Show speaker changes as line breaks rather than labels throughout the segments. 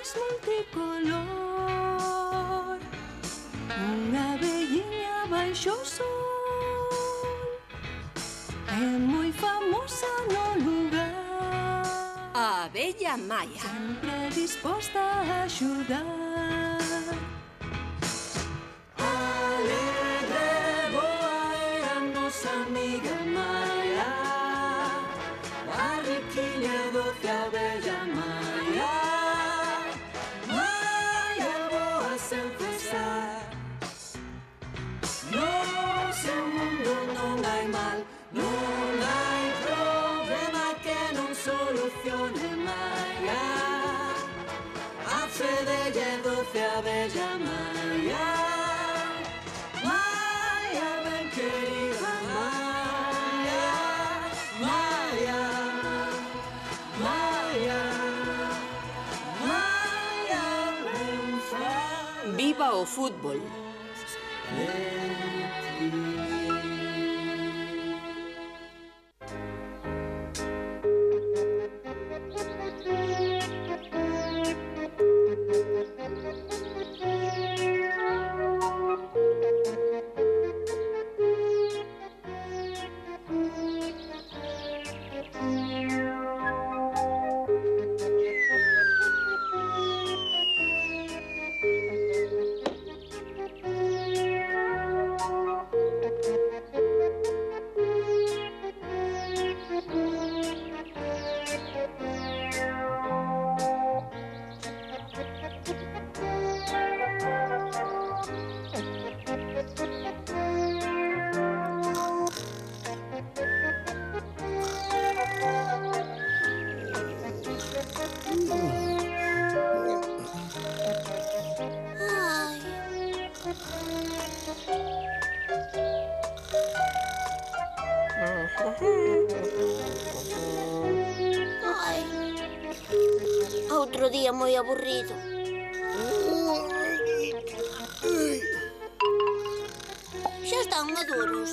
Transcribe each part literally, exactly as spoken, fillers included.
arco-íris multicolor, unha velliña baixo o sol, é moi famosa no lugar.
A abella Maia.
Sempre disposta a axudar. Alegre, boa é a nosa amiga Maia, a riquiña doce abella Maia. Maia boa sen cesar, no seu mundo non hai mal, non hai problema que non solucione Maia. A fe delle doce abella Maia. Maia, ben querida Maia. Maia, Maia, Maia, ben faz.
Viva o fútbol.
Ai, outro día moi aburrido. Xa están maduros.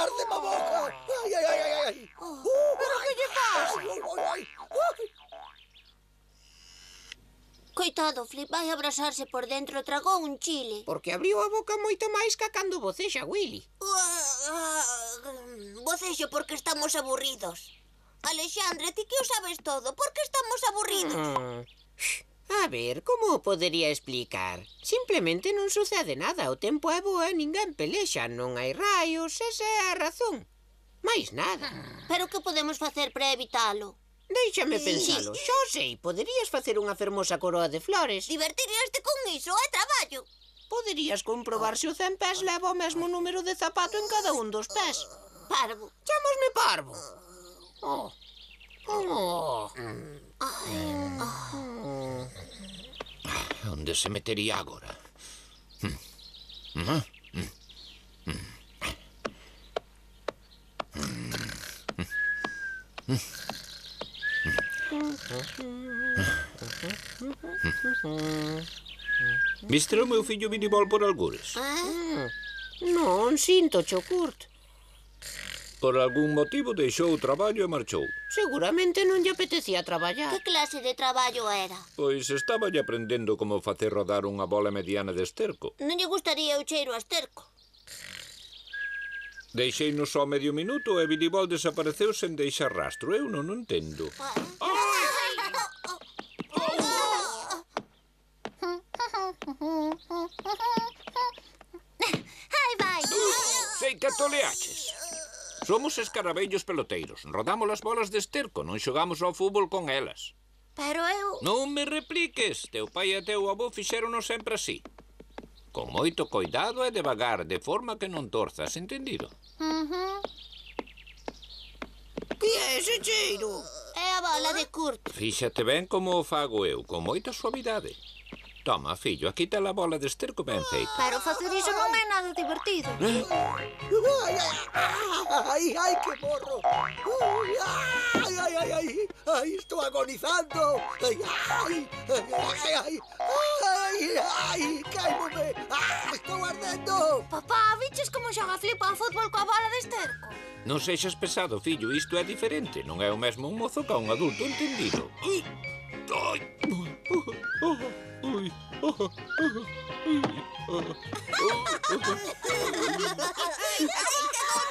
¡Arde-me a boca! ¡Ai, ai, ai, ai!
Pero que lle pasa? Coitado, Flip vai abrasarse por dentro, tragou un chile.
Porque abriu a boca moito máis ca cando bocexa, Willy.
Vocexo porque estamos aburridos. Alexandre, ti que o sabes todo, por que estamos aburridos?
Mm. A ver, como o podería explicar? Simplemente non sucede nada, o tempo é bo e ninguén pelexa, non hai raios, esa é a razón. Mais nada.
Pero que podemos facer para evitalo?
Déixame pensalo, xa sei, poderías facer unha fermosa coroa de flores.
Divertiríaste con iso, é traballo.
Poderías comprobar se o cen pés leva o mesmo número de zapato en cada un dos pés.
Parvo.
Chámasme parvo. Oh. Oh.
Onde se metería agora? Viste o meu fillo minibol por algures?
Non, sinto, Chocurt.
Por algún motivo deixou o traballo e marchou.
Seguramente non lle apetecía traballar.
Que clase de traballo era?
Pois estaba lle aprendendo como facer rodar unha bola mediana de esterco.
Non lle gustaría o cheiro a esterco.
Deixei-no só medio minuto e Minibol desapareceu sen deixar rastro. Eu non o entendo.
Ai, vai!
Sei que toleaches. Somos escarabellos peloteiros. Rodamos as bolas de esterco, non xogamos ao fútbol con elas.
Pero eu...
Non me repliques. Teu pai e teu avó fixéronos sempre así. Con moito coidado e devagar, de forma que non torzas, entendido?
Que é ese cheiro?
É a bola de Kurt.
Fíxate ben como o fago eu, con moita suavidade. Toma, fillo, aquí está a bola de esterco ben feita.
Pero facer iso non é nada divertido.
Ai, ai, ai, que morro. Ai, ai, ai, ai, ai, ai, estou agonizando. Ai, ai, ai, ai, ai, ai, caimome. Ah, estou ardendo.
Papá, viches como xoga Flip ao fútbol coa bola de esterco?
Non sexas pesado, fillo, isto é diferente. Non é o mesmo un mozo que un adulto entendido. Ai, ai, ai,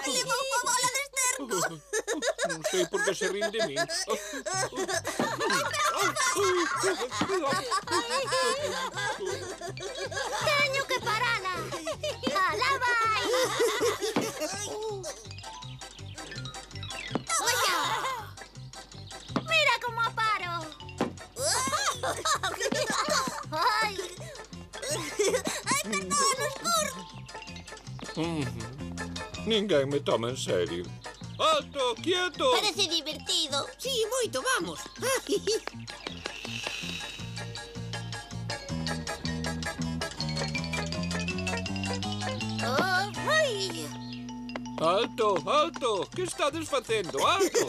Flip coa bola de esterco!
non sei por que se rin de min.
Teño que parala! Alá vai! Toma xa! Mira como a paro! Ai! Ai, que todo no escuro!
Ninguén me toma en serio. Alto, quieto!
Parece divertido.
Sí, moito, vamos.
Oh, ai!
Alto, alto! Que estades facendo? Alto!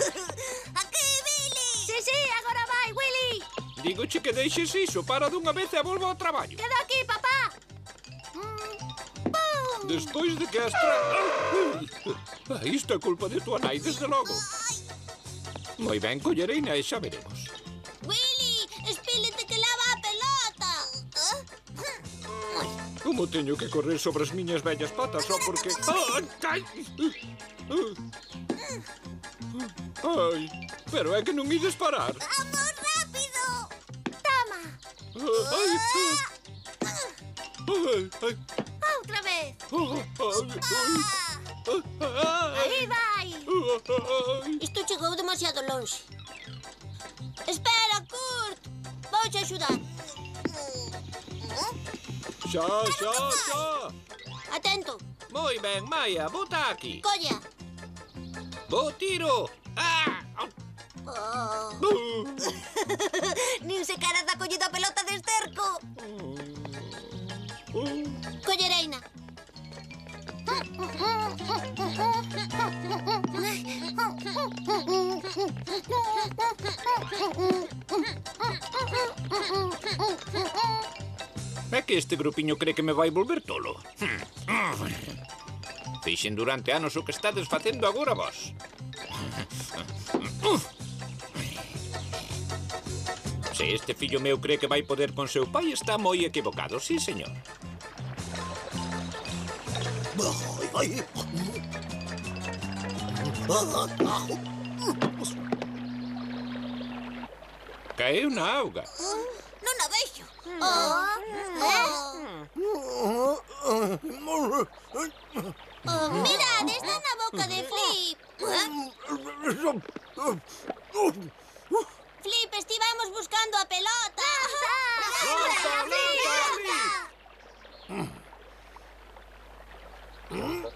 Aquí, Billy! Sí, sí, agora vai, Willy!
Dígoche que deixes iso, para dunha vez e volvo ao traballo.
Quedo aquí, papá! Mm. Pum!
Despois de que as tra... Ah, isto é culpa de tua nai, desde logo. Moi ben, collerei e xa veremos.
Willy, espílete que lava a pelota! Ah?
Como teño que correr sobre as miñas vellas patas só porque... Ai, ai, ai, pero é que non ides parar.
Vamos, rápido! Toma!
Ai, ai, ai,
Outra vez!
ai,
Aí vai!
ai.
Isto chegou demasiado longe. Espera, Kurt! Vou te axudar.
Xa, xa, xa.
Atento!
Moi ben, Maia, bota aquí.
Colla!
Bo tiro. Ah!
Oh.
Uh.
Nin se cara da collida a pelota de esterco.
Uh.
Collereina.
É que este grupiño cree que me vai volver tolo. Fixen durante anos o que estades facendo agora vos. Se este fillo meu cree que vai poder con seu pai, está moi equivocado, sí, señor.
Ai, ai.
Caeu na auga.
Non a vexo. Oh. Oh, mirad, está na boca de Flip. Flip, estivamos buscando a pelota.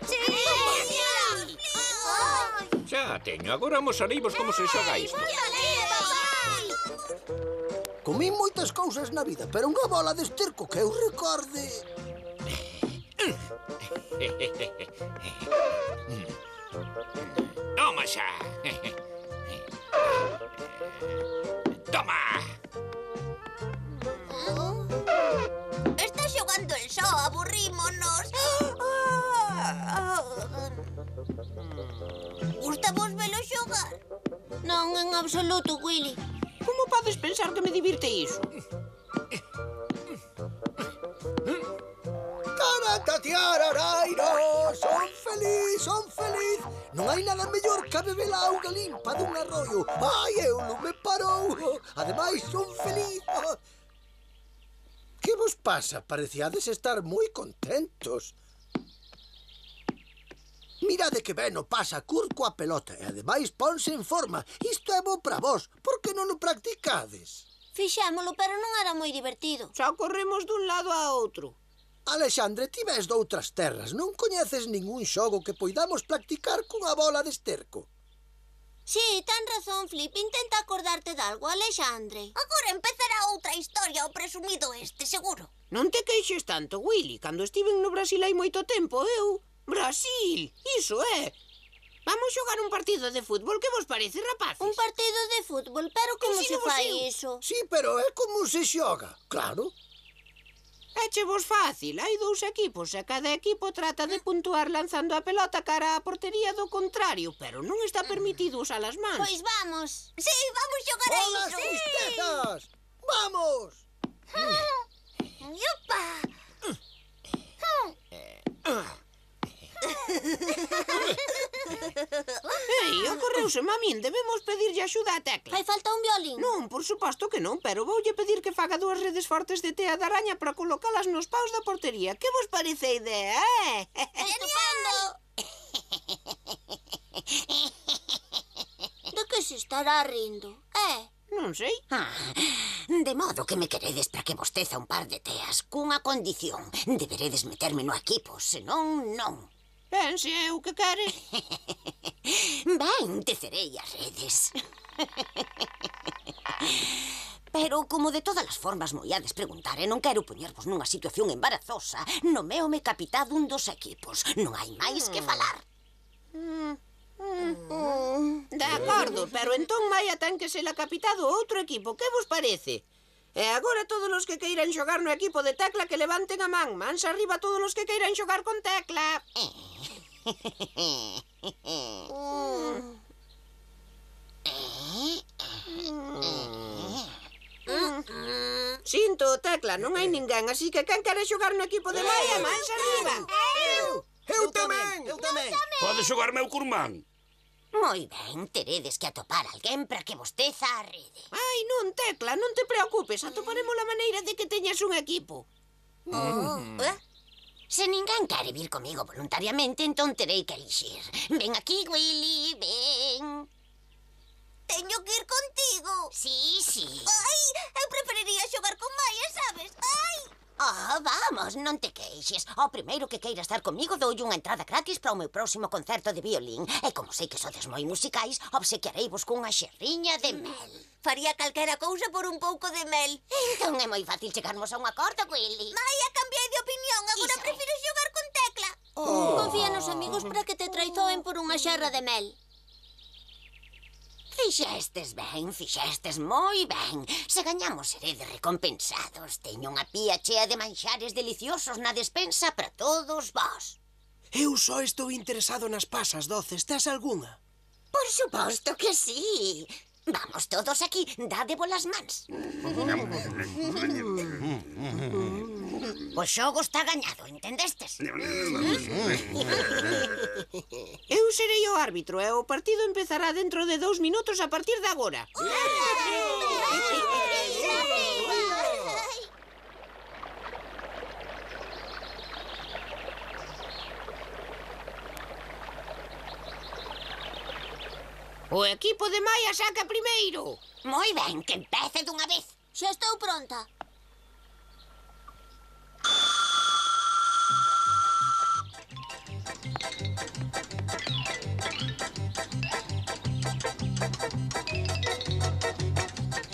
Sí.
Xa teño, agora mosareivos como se xoga isto.
Comín moitas cousas na vida, pero unha bola de esterco que eu recorde...
Toma xa. Toma.
Está xogando el só, aburrímonos. Gusta vos velo xogar? Non, en absoluto, Willy.
Como podes pensar que me divirte iso?
Taratatiararairo, son feliz, son feliz. Non hai nada mellor que beber a auga limpa dun arroio. Ai, eu non me parou. Ademais, son feliz. Que vos pasa? Pareciades estar moi contentos. Mirade que ben o pasa Kurt coa pelota e ademais ponse en forma. Isto é bo para vos. Por que non o practicades?
Fixémolo, pero non era moi divertido.
Só corremos dun lado a outro.
Alexandre, ti ves doutras terras. Non coñeces ningún xogo que poidamos practicar cunha bola de esterco.
Sí, ten razón, Flip. Intenta acordarte de algo, Alexandre. Agora empezará outra historia, o presumido este, seguro.
Non te queixes tanto, Willy. Cando estiven no Brasil hai moito tempo, eu... Brasil! Iso é! Vamos xogar un partido de fútbol, que vos parece, rapaces?
Un partido de fútbol, pero como se
Ensínavos
fai
eu.
iso?
Sí, pero é como se xoga, claro.
Éche vos fácil, hai dous equipos e cada equipo trata de puntuar lanzando a pelota cara á portería do contrario, pero non está permitido usar as mans.
Pois vamos. Sí, vamos xogar a
¡Hola,
iso.
tristezas! ¡Vamos!
Yupa.
Ei, ocorreuseme a min, debemos pedirlle axuda a Tecla.
Fai falta un violín.
Non, por suposto que non, pero voulle pedir que faga dúas redes fortes de tea de araña para colocalas nos paus da portería. Que vos parece a idea, eh?
Estupendo. De que se estará rindo? Eh?
Non sei.
Ah, de modo que me queredes para que vos teza un par de teas, cunha condición. Deberedes meterme no equipo, senón non.
Ben, se é o que queres.
Ben, tecerei as redes. Pero, como de todas as formas moiades preguntar e non quero poñervos nunha situación embarazosa, nomeome capitán dun dos equipos. Non hai máis que falar.
De acordo, pero entón Maia ten que ser a capitá do outro equipo. Que vos parece? E agora todos os que queiran xogar no equipo de Tecla que levanten a man. Mans arriba todos os que queiran xogar con Tecla. Sinto, Tecla, non hai ninguén, así que quen quere xogar no equipo de Maia, mans arriba.
Eu! Eu tamén! Eu tamén!
Pode xogar meu curmán.
Moi ben, teredes que atopar alguén para que vos teza a rede.
Ai, non, Tecla, non te preocupes, atoparemos a maneira de que teñas un equipo.
Eh? Se ninguén quere vir comigo voluntariamente, entón terei que elixir. Ven aquí, Willy, ven.
Teño que ir contigo.
Sí, sí.
Ai, eu preferiría xogar con Maia, sabes? Ai.
Ah, vamos, non te queixes. Ao primeiro que queira estar comigo doulle unha entrada gratis para o meu próximo concerto de violín. E como sei que sodes moi musicais, obsequiareivos cunha xerriña de mel.
Faría calquera cousa por un pouco de mel.
Entón é moi fácil chegarmos a un acordo, Willy.
Maia, cambiei de opinión. Agora
Iso é.
prefiro xogar con Tecla. Confía nos amigos para que te traizoen por unha xerra de mel.
Fixestes ben, fixestes moi ben. Se gañamos seredes recompensados. Teño unha pía chea de manxares deliciosos na despensa para todos vós.
Eu só estou interesado nas pasas doces. Tes algunha?
Por suposto que sí. Vamos todos aquí, dade bolas mans. O xogo está gañado, entendestes?
Eu serei o árbitro e o partido empezará dentro de dous minutos a partir de agora. O equipo de Maia saca primeiro.
Moi ben, que empece dunha vez.
Xa estou pronta.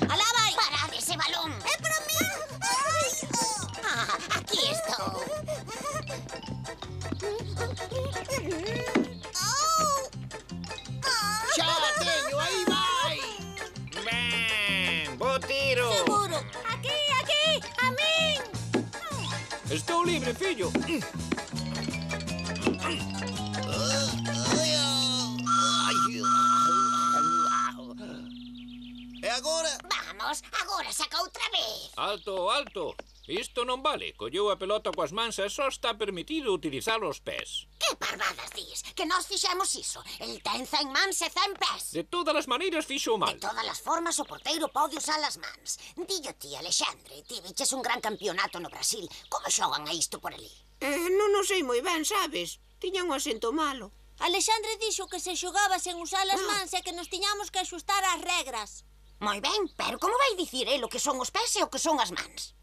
Alá vai! Parad ese balón!
É para min! Ai!
Ah, aquí estou.
Xa teño, aí vai!
Ben, bo tiro.
Seguro. Aquí, aquí, a min.
Estou libre, fillo.
E agora?
Vamos, agora saca outra vez.
Alto, alto. Isto non vale. Colleu a pelota coas mans e só está permitido utilizar os pés.
Que parvadas dis? Que nós fixemos iso. El ten cen mans e cen pés.
De todas as maneiras fixo mal.
De todas as formas, o porteiro pode usar as mans. Dillo ti, Alexandre, ti viches un gran campeonato no Brasil. Como xogan a isto por ali?
Eh, non o sei moi ben, sabes? Tiña un acento malo.
Alexandre dixo que se xogaba sen usar as mans e que nos tiñamos que axustar ás regras.
Moi ben, pero como vai dicir el o que son os pés e o que son as mans?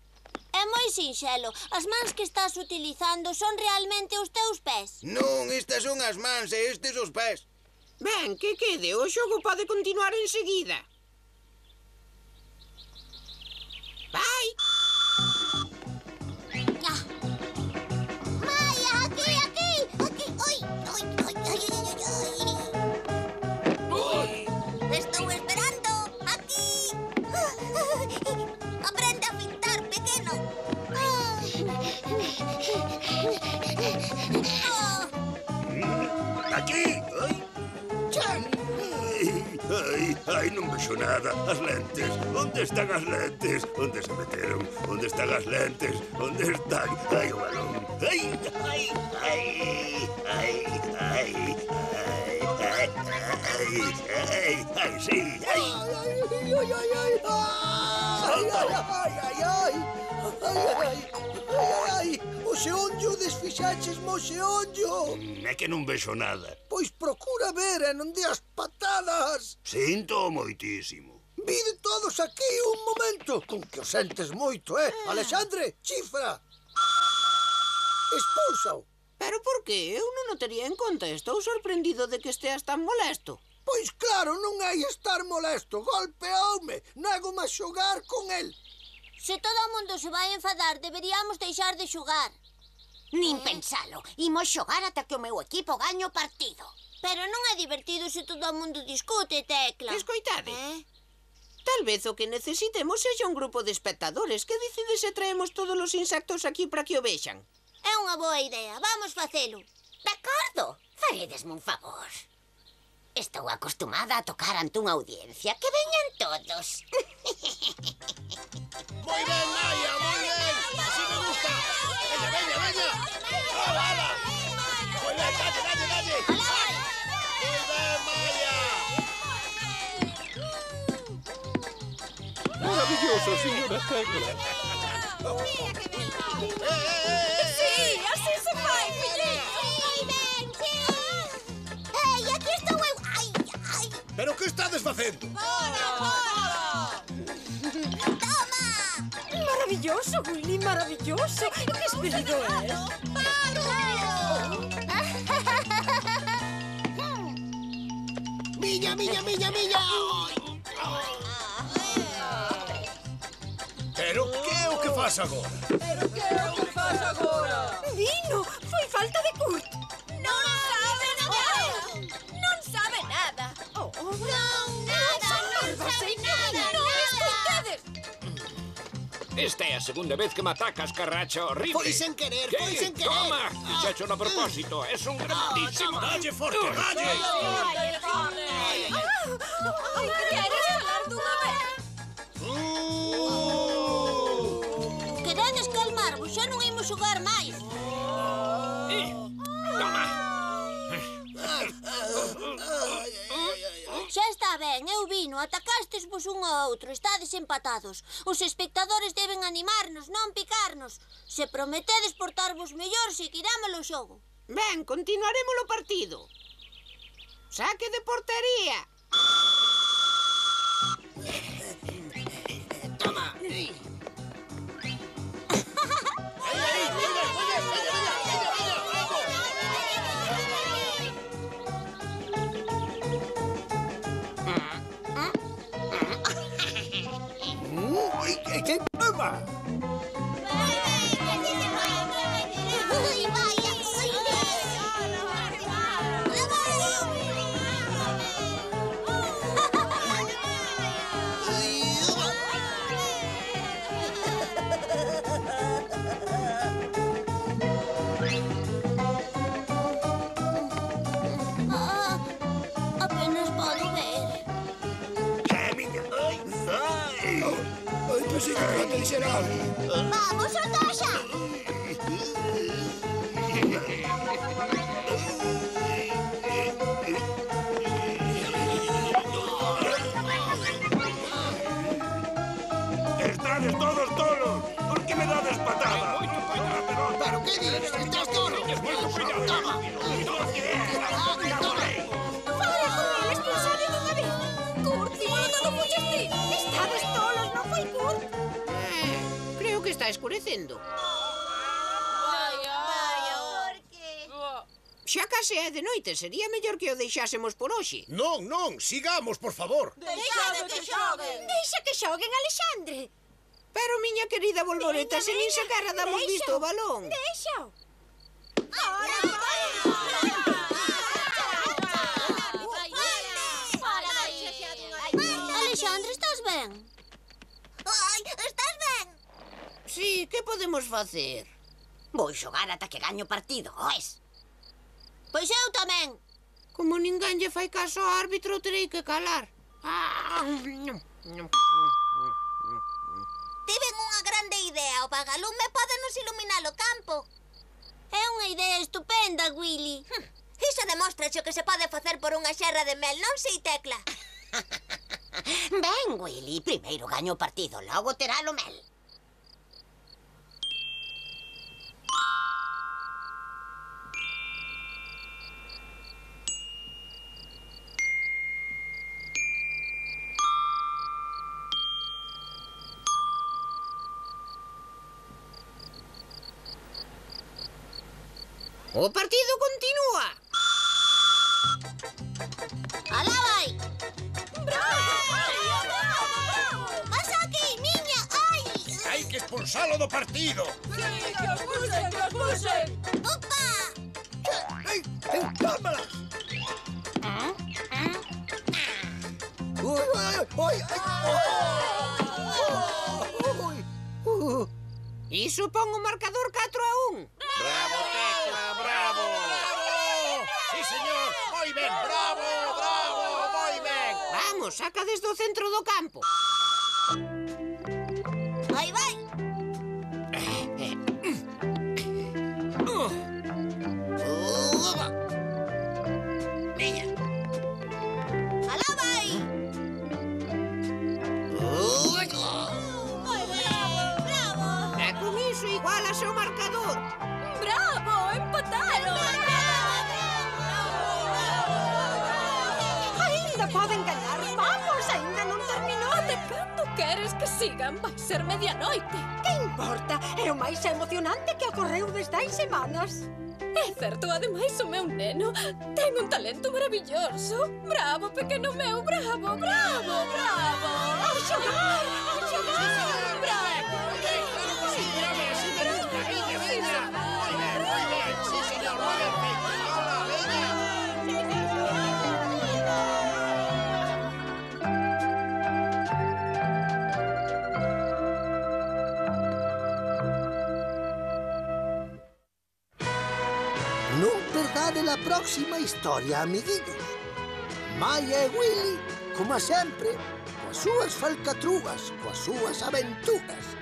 É moi sinxelo. As mans que estás utilizando son realmente os teus pés.
Non, estas son as mans e estes os pés.
Ben, que quede, o xogo pode continuar enseguida. Vai!
Ah. Maia, aquí, aquí, aquí. Oi, oi, oi, oi, oi, oi. Estou esperando. Aquí. Aprende a pintar, pequeno.
Aquí. Ai. Ai, ai, non vexo nada. As lentes. Onde están as lentes? Onde se meteron? Onde están as lentes? Onde están? Ai, o balón. Ai, ai, ai, ai, ai, ai, ai, ai, ai, sí, ai.
Ai, ai, ai, ai, ai, ai, ai, ai, ai, ai, ai, ai, o xeonllo desfixaches mo xeonllo.
É que non vexo nada.
Pois procura ver e non deas patadas.
Sinto moitísimo.
Vide todos aquí un momento, con que o sentes moito, eh? Alexandre, chifra. Expúlsao.
Pero por que? Eu non o tería en conta. Estou sorprendido de que esteas tan molesto.
Pois claro, non hai estar molesto. Golpeoume. Nego-me a xogar con el.
Se todo o mundo se vai enfadar, deberíamos deixar de xogar.
Nin pensalo. Imos xogar ata que o meu equipo gañe o partido.
Pero non é divertido se todo o mundo discute, Tecla.
Escoitade.
Eh?
Tal vez o que necesitemos sexa un grupo de espectadores. Que dicides se traemos todos os insectos aquí para que o vexan?
É unha boa idea. Vamos facelo.
De acordo. Faredesme un favor. Estou acostumada a tocar ante unha audiencia. Que veñan todos.
Moi ben, Maia, moi ben. Así me gusta. Veña, veña, veña. ¡Hala, hala! Moi ben, dalle, dalle, dalle. Moi ben, Maia.
Maravilloso, señora Tecla.
Sí, así se fai, filliño. Moi ben, sí. Ei, aquí estou eu. Ai, ai.
Pero que estades facendo?
Maravilloso, Willy, maravilloso. Que esperido es.
Miña, miña, miña, miña. Pero que é o que faz agora?
Vino, foi falta de Kurt.
Non sabe nada.
Non sabe nada. Oh, oh.
Non, nada, non sabe nada.
Non escoitades.
Esta é a segunda vez que me atacas, carracha horrible.
Foi sen querer,
¿Qué?
foi sen querer.
Toma, fixacho a propósito. Es un grandísimo.
Dalle forte, dalle.
Ai, queres falar dunha vez?
Queredes calmarvos, xa non imos xogar máis.
Eh, Toma.
Xa está ben, eu vino, atacastesvos un ao outro, estades empatados. Os espectadores deben animarnos, non picarnos. Se prometedes portarvos mellor, seguirámolo o xogo.
Ben, continuaremos o partido. Saque de portería.
Toma. ¿Qué toma?
Ai, vaya. Ah, apenas podo ver.
É miña. Ai, ai.
Ai, pensei que iba a dixer algo.
Vamos, Otasha.
Estades todos tolos. Por que me dades patada?
Moito cuidado.
Pero que dices? Estás tolo.
Moito cuidado.
Toma.
Fala con el expulsado dunha vez. Kurt, igual non o puxes ti. Estades tolos, non foi Kurt?
Eh, creo que está escurecendo. Xa case
se é de noite, sería mellor que o deixásemos por hoxe.
Non, non, sigamos, por favor.
Deixade que xoguen.
Deixa que xoguen, Alexandre.
Pero, miña querida Bolboreta, se nin sequera damos visto o balón.
Deixao.
Alexandre, estás ben?
Ai, estás ben?
Sí, que podemos facer?
Vou xogar ata que gaño partido, oes?
Pois eu tamén.
Como ninguén lle fai caso ao árbitro, terei que calar.
Tiven unha grande idea. O vagalume pódenos iluminar o campo. É unha idea estupenda, Willy. Iso demostra o que se pode facer por unha xerra de mel, non sei, Tecla?
Ben, Willy, primeiro gaño o partido, logo terá o mel.
O partido continúa.
Alá vai. Vas aquí, niña. Ai.
Hai que expulsalo do partido.
Sí, que os pusen, que os pusen.
Opa.
¡Ay! ¡Ay! ¡Cámaras! ¡Uy, ay, ay, ay! ¡Uy!
Iso pon o marcador catro a un.
Bravo, Tecla, bravo. Sí, señor, moi ben, bravo, bravo, moi ben.
Vamos, saca desde o centro do campo.
Aí vai.
Veña.
Alá vai.
E con iso igualas o marcador.
Bravo, empataron. Ainda poden ganar. Vamos, ainda non terminou. De cando queres que sigan? Vai ser medianoite. Que importa? É o máis emocionante que ocorreu desde hai semanas. É certo, ademais o meu neno ten un talento maravilloso. Bravo, pequeno meu, bravo, bravo, bravo. A xogar, a xogar, bravo.
Non perdade la próxima historia, amiguillos. Maia e Willy, como sempre, coas súas falcatrugas, coas súas aventuras.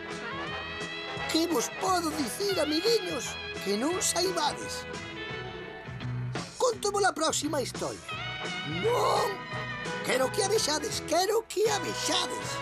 Que vos podo dicir, amiguiños, que non saibades? Conto-vos a próxima historia. Non! Quero que a vexades, quero que a vexades.